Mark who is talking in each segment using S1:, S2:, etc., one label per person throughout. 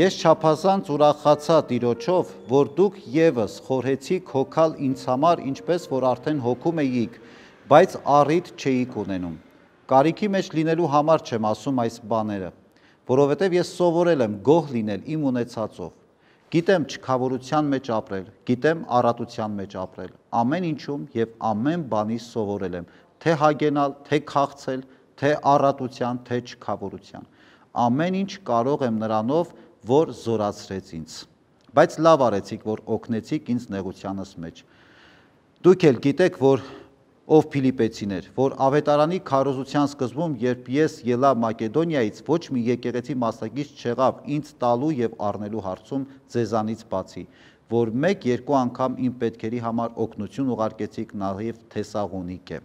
S1: Ես չափազանց ուրախացա Տիրոջով, որ դուք ևս խորհեցիք հոգալ ինձ համար, ինչպես որ արդեն հոգում էիք, բայց առիթ չէիք ունենում։ Կարիքի մեջ լինելու համար չեմ ասում այս բաները, որովհետև ես սովորել եմ գոհ լինել իմ ունեցածով։ Գիտեմ չքավորության մեջ ապրել, գիտեմ առատության մեջ ապրել, ամեն ինչում և ամեն բանից սովորել եմ, թե հագենալ, թե քաղցել, թե առատության, թե չքավորության։ Ամեն ինչ կարող եմ նրանով, որ զորացրեց ինձ։ Բայց լավ արեցիք, որ օգնեցիք ինձ նեղությանս մեջ։ Դուք էլ գիտեք, որ ով Փիլիպեցիներ, որ ավետարանի քարոզության սկզբում, երբ ես ելա Մակեդոնիայից, ոչ մի եկեղեցի մասնակից չեղավ ինձ տալու և առնելու հարցում ձեզանից բացի, որ մեկ-երկու անգամ իմ պետքերի համար օգնություն ուղարկեցիք նաև Թեսաղոնիկե։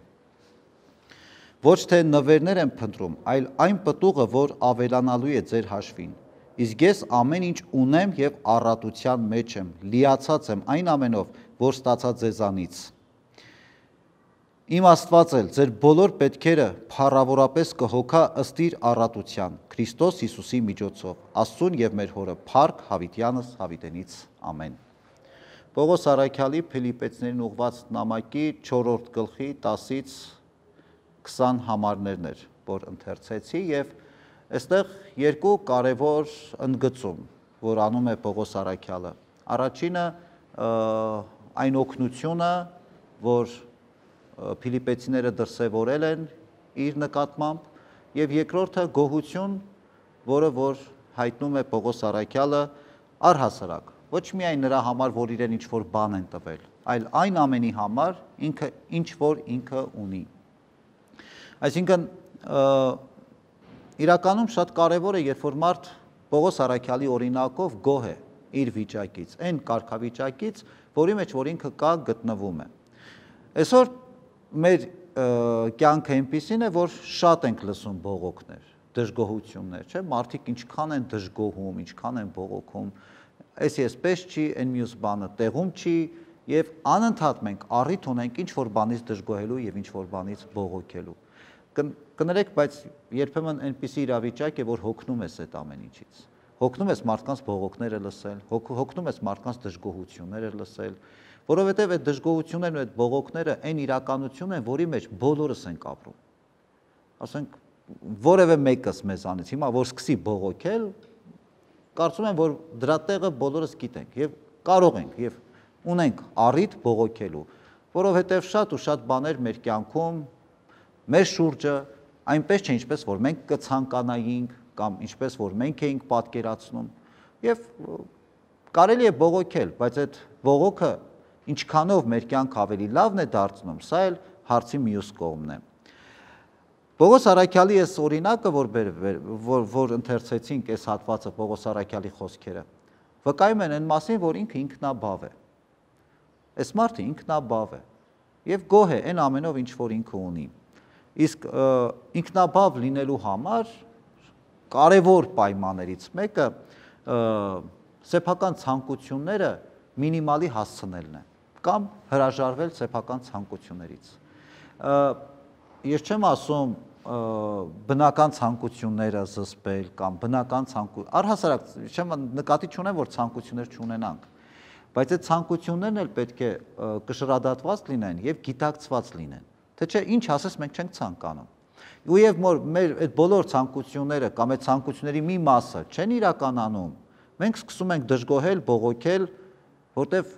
S1: Ոչ թե նվերներ եմ փնտրում, այլ այն պտուղը, որ ավելանալու է ձեր հաշվին։ Իսկ ես ամեն ինչ ունեմ և առատության մեջ եմ, լիացած եմ այն ամենով, որ ստացա ձեզանից։ Իմ Աստված էլ ձեր բոլոր պետքերը փառավորապես կհոգա ըստ իր առատության, Քրիստոս Հիսուսի միջոցով, Աստծուն և մեր Հորը, փառք Հավիտյանս Հավիտենից, ամեն։ Պողոս առաքյալի Փիլիպեցիներին ուղղված նամակի 4-րդ գլխի 10-ից 20 համարներն էր, որ ընթերցեցի, և այստեղ երկու կարևոր ընդգծում, որ անում է Պողոս առաքյալը։ Առաջինը այն օգնությունը, որ Փիլիպեցիները դրսևորել են իր նկատմամբ, և երկրորդը գոհություն, որը որ հայտնում է Պողոս առաքյալը առհասարակ, ոչ միայն նրա համար, որ իրեն ինչ-որ բան են տվել, այլ այն ամենի համար, ինչ-որ ինքը ունի։ Այսինքն, իրականում շատ կարևոր է, երբ որ մարդ Պողոս առաքյալի օրինակով գոհ է իր վիճակից, այն կարգավիճակից, որի մեջ որ ինքը կա գտնվում է։ Այսօր մեր կյանքը այնպիսին է, որ շատ ենք լսում բողոքներ, դժգոհություններ, չէ՞, մարդիկ ինչքան են դժգոհում, ինչքան են բողոքում, էս եսպես չի, այն մյուս բանը տեղում չի, և անընդհատ մենք առիթ ունենք ինչ-որ բանից դժգոհելու և ինչ-որ բանից բողոքելու։ Կներեք, բայց երբեմն այնպիսի իրավիճակ է, որ հոգնում ես այդ ամեն ինչից։ Հոգնում ես մարդկանց բողոքները լսել, հոգնում ես մարդկանց դժգոհությունները լսել, որովհետև այդ դժգոհություններն ու այդ բողոքները այն իրականություն են, որի մեջ բոլորս ենք ապրում։ Ասենք, որևէ մեկս մեզանից հիմա, որ սկսի բողոքել, կարծում եմ, որ դրա տեղը բոլորս գիտենք և կարող ենք և ունենք առիթ բողոքելու, որովհետև շատ ու շատ բաներ մեր կյանքում, մեր շուրջը այնպես չէ, ինչպես որ մենք կցանկանայինք կամ ինչպես որ մենք էինք պատկերացնում, և կարելի է բողոքել, բայց այդ բողոքը ինչքանով մեր կյանքը ավելի լավն է դարձնում, սա էլ հարցի մյուս կողմն է։ Պողոս առաքյալի այս օրինակը, որ ընթերցեցինք այս հատվածը Պողոս առաքյալի խոսքերը, վկայում են այն մասին, որ ինքը ինքնաբավ է։ Այս մարդը ինքնաբավ է և գոհ է այն ամենով, ինչ որ ինքը ունի։ Իսկ ինքնաբավ լինելու համար կարևոր պայմաններից մեկը սեփական ցանկությունները մինիմալի հասցնելն է կամ հրաժարվել սեփական ցանկություններից։ Ես չեմ ասում բնական ցանկությունները զսպել կամ բնական առհասարակ չեմ նկատի չունեմ, որ ցանկություններ չունենանք, բայց այդ ցանկություններն էլ պետք է կշռադատված լինեն և գիտակցված լինեն, թե չէ ինչ ասես մենք չենք ցանկանում։ Ու և մեր այդ բոլոր ցանկությունները կամ այդ ցանկությունների մի մասը չեն իրականանում, մենք սկսում ենք դժգոհել, բողոքել, որտև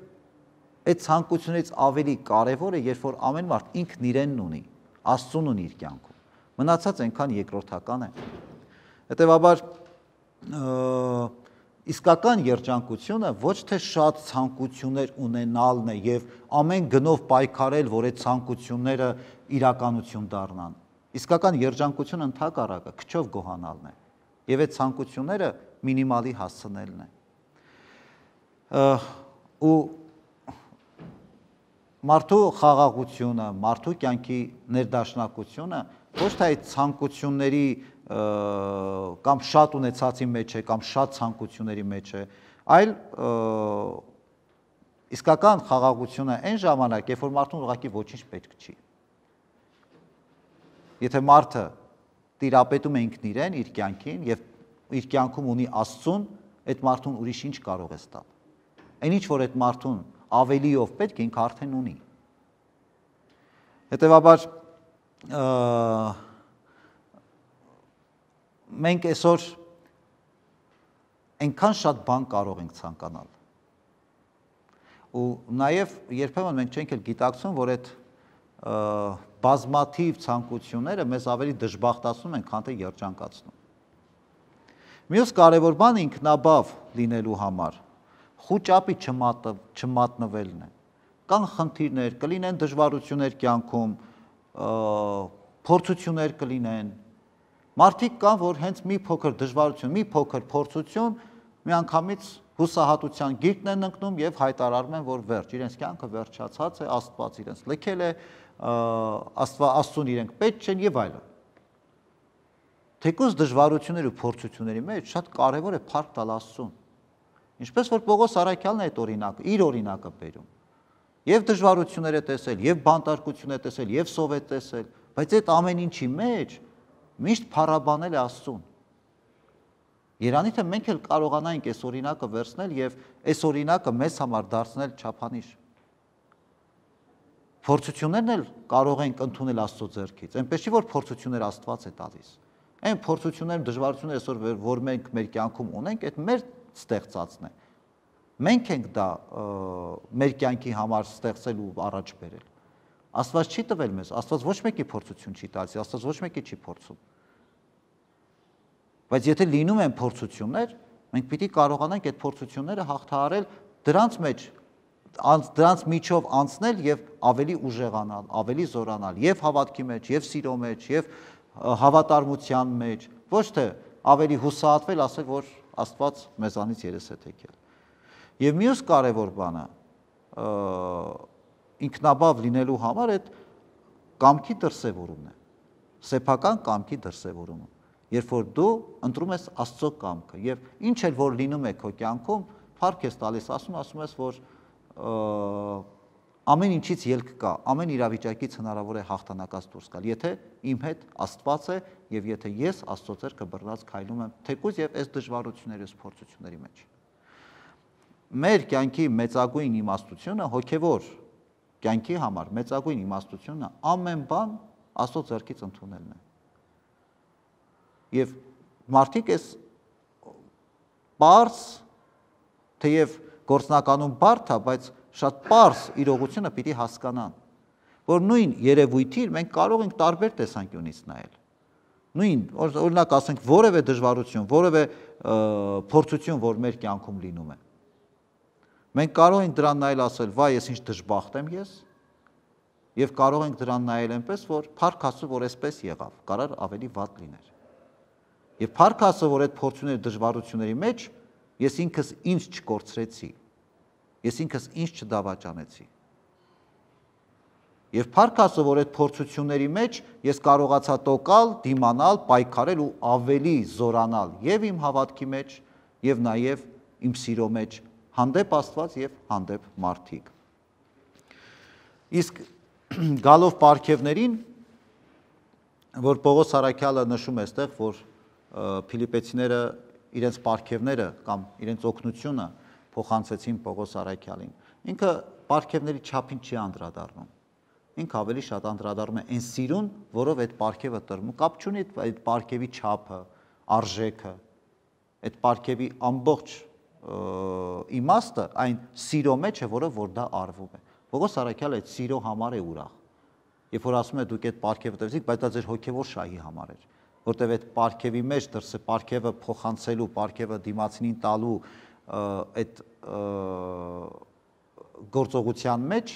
S1: այդ ցանկություններից ավելի կարևոր է, երբ որ ամեն մարդ ինքն իրենն ունի, Աստծուն ունի իր կյանքում, մնացած այնքան երկրորդական է։ Հետևաբար իսկական երջանկությունը ոչ թե շատ ցանկություններ ունենալն է և ամեն գնով պայքարել, որ այդ ցանկությունները իրականություն դառնան։ Իսկական երջանկությունը ընդհակառակը քչով գոհանալն է և այդ ցանկությունները մինիմալի հասցնելն է։ Ու մարդու խաղաղությունը, մարդու կյանքի ներդաշնակությունը ոչ թե այդ ցանկությունների կամ շատ ունեցածի մեջ է, կամ շատ ցանկությունների մեջ է, այլ իսկական խաղաղությունը այն ժամանակ, երբ որ մարդուն ուղղակի ոչինչ պետք չի։ Եթե մարդը տիրապետում է ինքն իրեն, իր կյանքին և իր կյանքում ունի Աստծուն, այդ մարդուն ուրիշ ինչ կարող ես տալ։ Այն ինչ որ այդ մարդուն ավելիով պետք է ինքը արդեն ունի։ Հետևաբար մենք այսօր այնքան շատ բան կարող ենք ցանկանալ։ Ու նաև երբեմն մենք չենք էլ գիտակցում, որ այդ բազմաթիվ ցանկությունները մեզ ավելի դժբախտացնում են, քան թե երջանկացնում։ Մյուս կարևոր բանը ինքնաբավ լինելու համար խուճապի չմատնվելն է։ Կան խնդիրներ, կլինեն դժվարություններ կյանքում, փորձություններ կլինեն։ Մարդիկ կան, որ հենց մի փոքր դժվարություն, մի փոքր փորձություն միանգամից հուսահատության գիրկն են ընկնում եւ հայտարարում են, որ վերջ, իրենց կյանքը վերջացած է, Աստված իրենց լքել է, Աստծուն իրենք պետք չեն եւ այլն։ Թեկուզ դժվարությունների ու փորձությունների մեջ շատ կարևոր է փառք տալ Աստծուն։ Ինչպես որ Պողոս Առաքյալն է այդ օրինակը, իր օրինակը բերում։ Եվ դժվարություններ է տեսել, եւ բանտարկություն է տեսել, եւ սով է տեսել, բայց այդ ամեն ինչի մեջ միշտ փառաբանել է Աստծուն։ Երանի թե մենք էլ կարողանայինք այս օրինակը վերցնել եւ այս օրինակը մեզ համար դարձնել չափանիշ։ Փորձություններն էլ կարող ենք ընդունել Աստծո ձեռքից, այնպես չի որ փորձություններ Աստված է տալիս։ Այն փորձությունները, դժվարությունները այսօր որ մենք մեր կյանքում ունենք, այդ մեր ստեղծածն է։ Մենք ենք դա մեր կյանքի համար ստեղծել ու առաջ բերել։ Աստված չի տվել մեզ, Աստված ոչ մեկի փորձություն չի տալիս, Աստված ոչ մեկի չի փորձում։ Բայց եթե լինում են փորձություններ, մենք պիտի կարողանանք այդ փորձությունները հաղթահարել, դրանց միջով անցնել եւ ավելի ուժեղանալ, ավելի զորանալ եւ հավատքի մեջ, եւ սիրո մեջ, եւ հավատարմության մեջ, ոչ թե ավելի հուսահատվել, ասել, որ Աստված մեզանից երես է թեքել։ Եվ մյուս կարևոր բանը ինքնաբավ լինելու համար այդ կամքի դրսևորումն է, սեփական կամքի դրսևորումը, երբ որ դու ընտրում ես Աստծո կամքը եւ ինչ էլ որ լինում է քո կյանքում, փառք ես տալիս, ասում ես, որ ամեն ինչից ելք կա, ամեն իրավիճակից հնարավոր է հաղթանակած դուրս գալ, եթե իմ հետ Աստված է եւ եթե ես Աստծո ձեռքը բռնած քայլում եմ, թեկուզ եւ այս դժվարությունների ու փորձությունների մեջ։ Մեր կյանքի մեծագույն իմաստությունը հոգևոր կյանքի համար մեծագույն իմաստությունը ամեն բան Աստծո ձեռքից ընդունելն է։ Եվ մարդիկ այս պարզ, թեև գործնականում բարդ է, բայց շատ պարզ իրողությունը պիտի հասկանան, որ նույն երևույթին մենք կարող ենք տարբեր տեսանկյունից նայել։ Նույն, օրինակ ասենք, որևէ դժվարություն, որևէ փորձություն, որ մեր կյանքում լինում է։ Մենք կարող ենք դրան նայել ասել, վայ, ես ինչ դժբախտ եմ ես, եւ կարող ենք դրան նայել այնպես, որ փառք Աստծո, որ այսպես եղավ, կարող ավելի վատ լիներ։ Եվ փառք Աստծո, որ այդ փորձությունների դժվարությունների մեջ ես ինքս ինձ չկորցրեցի, ես ինքս ինձ չդավաճանեցի։ Եվ փառք Աստծո, որ այդ փորձությունների մեջ ես կարողացա տոկալ, դիմանալ, պայքարել ու ավելի զորանալ եւ իմ հավատքի մեջ եւ նաեւ իմ սիրո մեջ հանդեպ Աստված եւ հանդեպ մարդիկ։ Իսկ գալով պարգևներին, որ Պողոս Առաքյալը նշում է այստեղ, որ Փիլիպեցիները իրենց պարգևները կամ իրենց օգնությունը փոխանցեցին Պողոս Առաքյալին։ Ինքը պարգևների չափին չի անդրադառնում։ Ինքը ավելի շատ անդրադառնում է այն սիրուն, որով այդ պարգևը տրվում, կապ չունի այդ պարգևի չափը, արժեքը, այդ պարգևի ամբողջ իմաստը այն սիրո մեջ է, որով որ դա արվում է։ Պողոս Առաքյալը այդ սիրո համար է ուրախ։ Երբ որ ասում է դուք այդ պարգևը տվեցիք, բայց դա ձեր հոգևոր շահի համար էր, որտեղ այդ պարգևի մեջ դրսը պարգևը փոխանցելու, պարգևը դիմացինին տալու այդ գործողության մեջ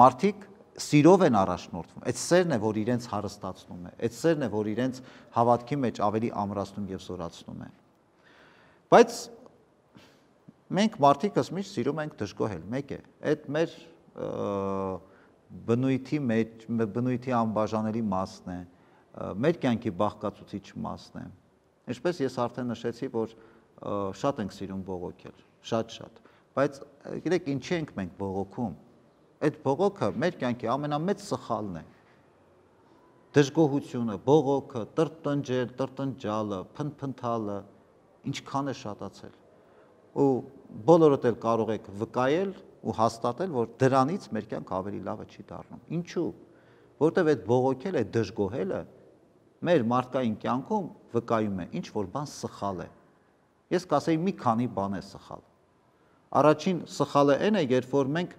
S1: մարդիկ սիրով են առաջնորդվում։ Այդ սերն է, որ իրենց հարստացնում է, այդ սերն է, որ իրենց հավատքի մեջ ավելի ամրացնում եւ զորացնում է։ Բայց մենք մարդիկս միշտ սիրում ենք դժգոհել, մեկ է, այդ մեր բնույթի մեջ, բնույթի անբաժանելի մասն է, մեր կյանքի բաղկացուցիչ մասն է։ Ինչպես ես արդեն նշեցի, որ շատ ենք սիրում բողոքել, շատ, բայց գիտեք ինչի ենք մենք բողոքում։ Այդ բողոքը մեր կյանքի ամենամեծ սխալն է։ Դժգոհությունը, բողոքը, տրտնջել, տրտնջալը, փնփնթալը ինչքան է շատացել։ ու բոլորդ էլ կարող եք վկայել ու հաստատել, որ դրանից մեր կյանք ավելի լավը չի դառնում։ Ինչու՞։ Որտեվ այդ բողոքել, այդ դժգոհելը մեր մարդկային կյանքում վկայում է ինչ որ բան սխալ է։ Ես կասեի մի քանի բան է սխալ։ Առաջին սխալը այն է, երբ որ մենք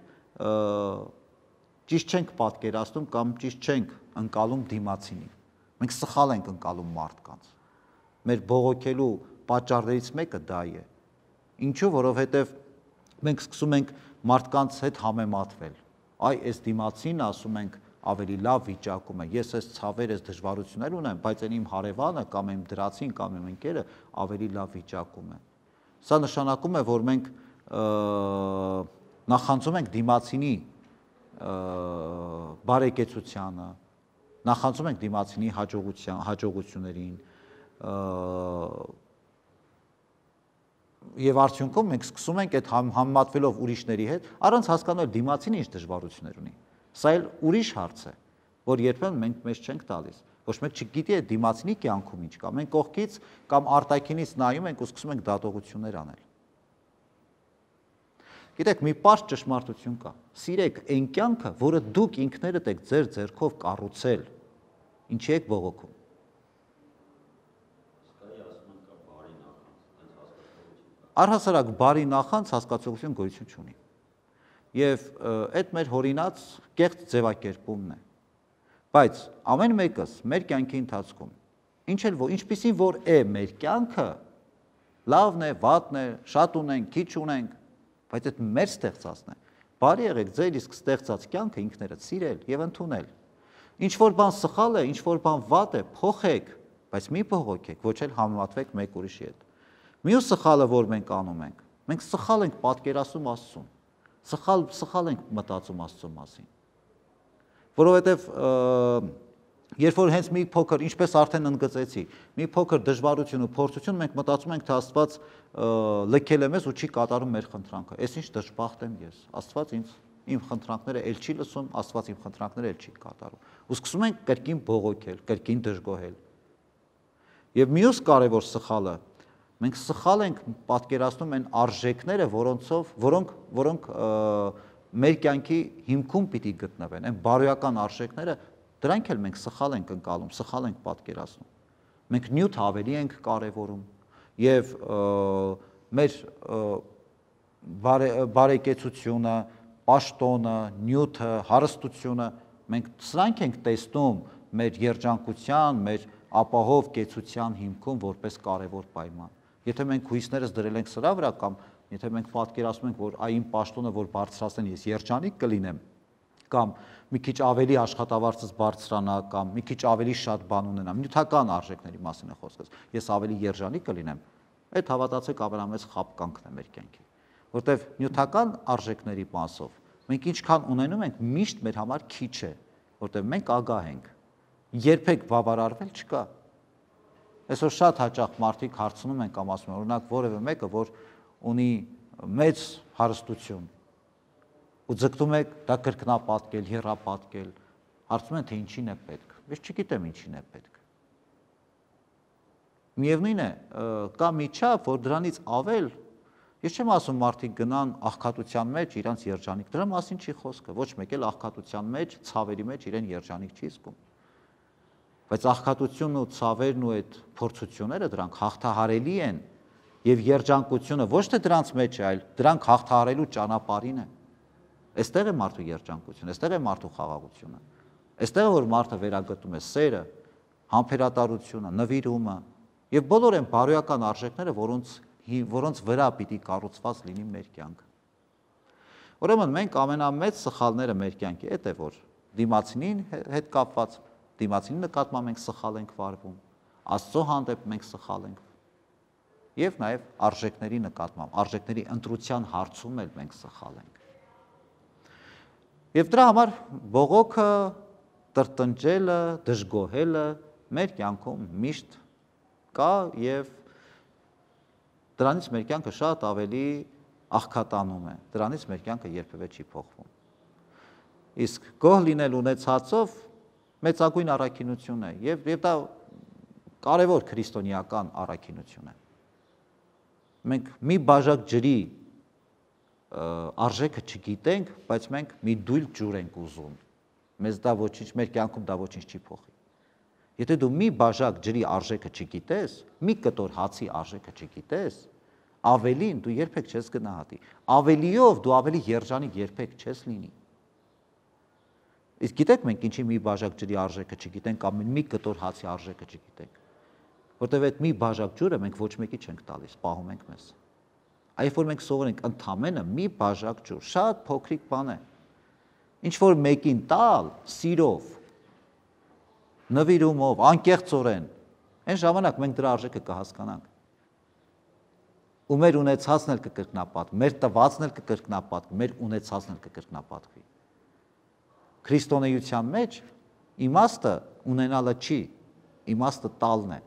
S1: ճիշտ չենք պատկերացնում կամ ճիշտ չենք ընկալում դիմացինին։ Մենք սխալ ենք ընկալում մարդկանց։ Մեր բողոքելու պատճառներից մեկը դա է։ Ինչու, որովհետև մենք սկսում ենք մարդկանց հետ համեմատվել։ Այ այս դիմացինը, ասում ենք, ավելի լավ վիճակում է։ Ես այս ցավեր, այս դժվարություններ ունեմ, բայց այն իմ հարևանը կամ իմ դրացին կամ իմ ընկերը ավելի լավ վիճակում է։ Սա նշանակում է, որ մենք նախանձում ենք դիմացինի բարեկեցությանը, նախանձում ենք դիմացինի հաջողություններին, եւ արդյունքում մենք սկսում ենք այդ համեմատվելով ուրիշների հետ, առանց հասկանալ դիմացինը ինչ դժվարություններ ունի։ Սա էլ ուրիշ հարց է, որ երբեմն մենք մեզ չենք տալիս։ Ոչ մեկ չգիտի այդ դիմացինի կյանքում ինչ կա։ Մենք կողքից կամ արտաքինից նայում ենք ու սկսում ենք դատողություններ անել։ Գիտեք, մի պարզ ճշմարտություն կա։ Սիրեք այն կյանքը, որը դուք ինքներդ եք ձեր ձեռքով կառուցել, ինչի եք բողոքում։ Առհասարակ բարի նախանձ հասկացողություն գոյություն չունի։ Եվ այդ մեր հորինած կեղծ ձևակերպումն է։ Բայց ամեն մեկս մեր կյանքի ընթացքում ինչպիսին որ է մեր կյանքը, լավն է, վատն է, շատ ունենք, քիչ ունենք, բայց այդ մեր ստեղծածն է։ Բարի եղեք ձեր իսկ ստեղծած կյանքը ինքներդ սիրել եւ ընդունել։ Ինչ որ բան սխալ է, ինչ որ բան վատ է, փոխեք, բայց մի բողոքեք, ոչ էլ համեմատվեք մեկ ուրիշի հետ։ Մյուս սխալը, որ մենք անում ենք, մենք սխալ ենք պատկերացնում Աստծուն, սխալ ենք մտածում Աստծո մասին։ Որովհետև երբ որ հենց մի փոքր, ինչպես արդեն ընդգծեցի, մի փոքր դժվարություն ու փորձություն մենք մտածում ենք, թե Աստված լքել է մեզ ու չի կատարում մեր խնդրանքը։ Այս ինչ դժբախտ եմ ես։ Աստված իմ խնդրանքները էլ չի լսում, Աստված իմ խնդրանքները էլ չի կատարում։ Ու սկսում ենք կրկին բողոքել, կրկին դժգոհել։ Եվ մյուս կարևոր սխալը, մենք սխալ ենք պատկերացնում այն արժեքները, որոնք մեր կյանքի հիմքում պիտի գտնվեն, այն բարոյական արժեքները, դրանք էլ մենք սխալ ենք ընկալում, սխալ ենք պատկերացնում։ Մենք նյութ ավելի ենք կարևորում եւ մեր բարեկեցությունը, պաշտոնը, նյութը, հարստությունը մենք սրանք ենք տեսնում մեր երջանկության, մեր ապահով կեցության հիմքում որպես կարևոր պայման։ Եթե մենք հույսներս դրել ենք սրա վրա կամ եթե մենք պատկերացնում ենք, որ այ իմ պաշտոնը որ բարձրացնեն ես երջանիկ կլինեմ, կամ մի քիչ ավելի աշխատավարձս բարձրանա, կամ մի քիչ ավելի շատ բան ունենամ, նյութական արժեքների մասին է խոսքը, ես ավելի երջանիկ կլինեմ, այդ հավատացեք ամենամեծ խաբկանքն է մեր կյանքի, որտեղ նյութական արժեքների մասով մենք ինչքան ունենում ենք, միշտ մեր համար քիչ է, որտեղ մենք ագահ ենք, երբեք բավարարվել չկա։ Այսօր շատ հաճախ մարդիկ հարցնում են կամ ասում են, օրինակ որևէ մեկը, որ ունի մեծ հարստություն ու ձգտում եք դա կրկնապատկել, եռապատկել, հարցնում են, թե ինչին է պետք։ Ես չգիտեմ ինչին է պետք։ Միևնույն է, կա մի չափ, որ դրանից ավել, ես չեմ ասում մարդիկ գնան աղքատության մեջ իրանց երջանիկ, դրա մասին չի խոսքը, ոչ մեկ էլ աղքատության մեջ, ցավերի մեջ իրեն երջանիկ չի զգում։ Բայց աղքատությունն ու ցավերն ու այդ փորձությունները դրանք հաղթահարելի են եւ երջանկությունը ոչ թե դրանց մեջ է, այլ դրանք հաղթահարելու ճանապարհին է։ Այստեղ է մարդու երջանկությունը, այստեղ է մարդու խաղաղությունը։ Այստեղ է որ մարդը վերագտնում է սերը, համբերատարությունը, նվիրումը եւ բոլոր այն բարոյական արժեքները, որոնց վրա պիտի կառուցված լինի մեր կյանքը։ Ուրեմն մենք ամենամեծ սխալները մեր կյանքի այդ է, որ դիմացինին հետ կապված, դիմացինի նկատմամբ մենք սխալ ենք վարվում, Աստծո հանդեպ մենք սխալ ենք եւ նաեւ արժեքների նկատմամբ, արժեքների ընտրության հարցում էլ մենք սխալ ենք։ Եվ դրա համար բողոքը, տրտնջելը, դժգոհելը մեր կյանքում միշտ կա եւ դրանից մեր կյանքը շատ ավելի աղքատանում է, դրանից մեր կյանքը երբևէ չի փոխվում։ Իսկ գոհ լինել ունեցածով մեծագույն առաքինություն է եւ դա կարևոր քրիստոնեական առաքինություն է։ մենք մի բաժակ ջրի արժեքը չգիտենք, բայց մենք մի դույլ ջուր ենք ուզում։ Մեզ դա ոչինչ, մեր կյանքում դա ոչինչ չի փոխի։ Եթե դու մի բաժակ ջրի արժեքը չգիտես, մի կտոր հացի արժեքը չգիտես, ավելին դու երբեք չես գնահատի։ Ավելիով դու ավելի երջանիկ երբեք չես լինի։ Իսկ գիտեք մենք ինչի մի բաժակ ջրի արժեքը չգիտենք կամ մի կտոր հացի արժեքը չգիտենք, որտեղ այդ մի բաժակ ջուրը մենք ոչ մեկի չենք տալիս, պահում ենք մեզ։ Այլ որ մենք սովորենք ընդամենը մի բաժակ ջուր, շատ փոքրիկ բան է։ Ինչ որ մեկին տալ, սիրով, նվիրումով, անկեղծորեն, այն ժամանակ մենք դրա արժեքը կհասկանանք։ Ու մեր ունեցածն էլ կկրկնապատվի, մեր տվածն էլ կկրկնապատվի, մեր ունեցածն էլ կկրկնապատվի։ Քրիստոնեության մեջ իմաստը ունենալը չի, իմաստը տալն է։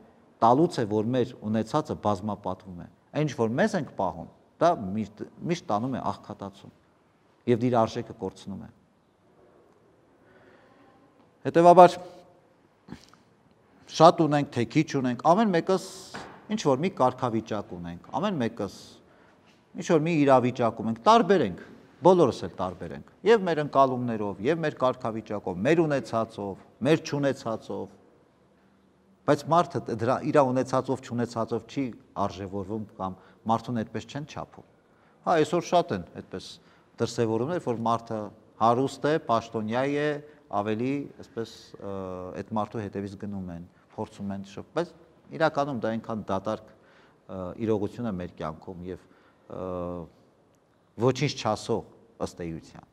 S1: Տալուց է, որ մեր ունեցածը բազմապատվում է։ Այն ինչ որ մեզ ենք պահում, դա միշտ տանում է աղքատացում եւ իր արժեքը կորցնում է։ Հետևաբար շատ ունենք, թե քիչ ունենք, ամեն մեկս ինչ որ մի կարգավիճակ ունենք, ամեն մեկս ինչ որ մի իրավիճակում ենք, տարբեր ենք, բոլորս էլ տարբեր ենք, եւ մեր ընկալումներով, եւ մեր կարգավիճակով, մեր ունեցածով, մեր չունեցածով, բայց մարդը դրա իր ունեցածով, չունեցածով չի արժևորվում կամ մարդուն այդպես չեն չափում։ Հա, այսօր շատ են այդպես դրսևորումներ, որ մարդը հարուստ է, պաշտոնյա է, ավելի այսպես այդ մարդու հետևից գնում են, փորձում են շփ, բայց իրականում դա այնքան դատարկ իրողություն է մեր կյանքում եւ ոչինչ չասող ըստ էության։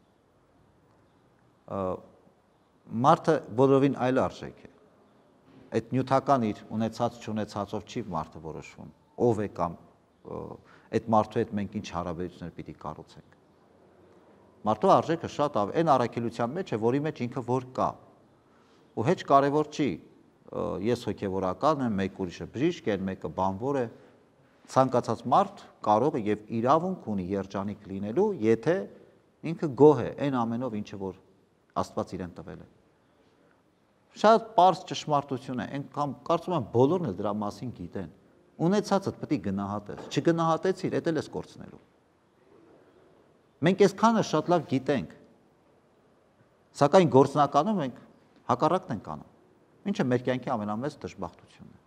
S1: Մարդը բոլորովին այլ արժեք է։ Այդ նյութական իր ունեցած չունեցածով չի մարդը որոշվում, ով է կամ այդ մարդու հետ մենք ինչ հարաբերություններ պիտի կառուցենք։ Մարդու արժեքը շատ այն առաքելության մեջ է, որի մեջ ինքը որ կա։ Ու հեչ կարևոր չի, ես հոգևորական եմ, մեկ ուրիշը բժիշկ է, մեկը բանվոր է։ Ցանկացած մարդ կարող է եւ իրավունք ունի երջանիկ լինելու, եթե ինքը գոհ է այն ամենով, ինչը որ Աստված իրեն տվել է։ Շատ պարզ ճշմարտություն է, այնքան կարծում եմ բոլորն էլ դրա մասին գիտեն։ Ունեցածդ պետք է գնահատես, չգնահատեցիր, դա էլ ես կորցնելու։ Մենք այսքանը շատ լավ գիտենք, սակայն գործնականում մենք հակառակն ենք անում, ինչը մեր կյանքի ամենամեծ դժբախտությունն է։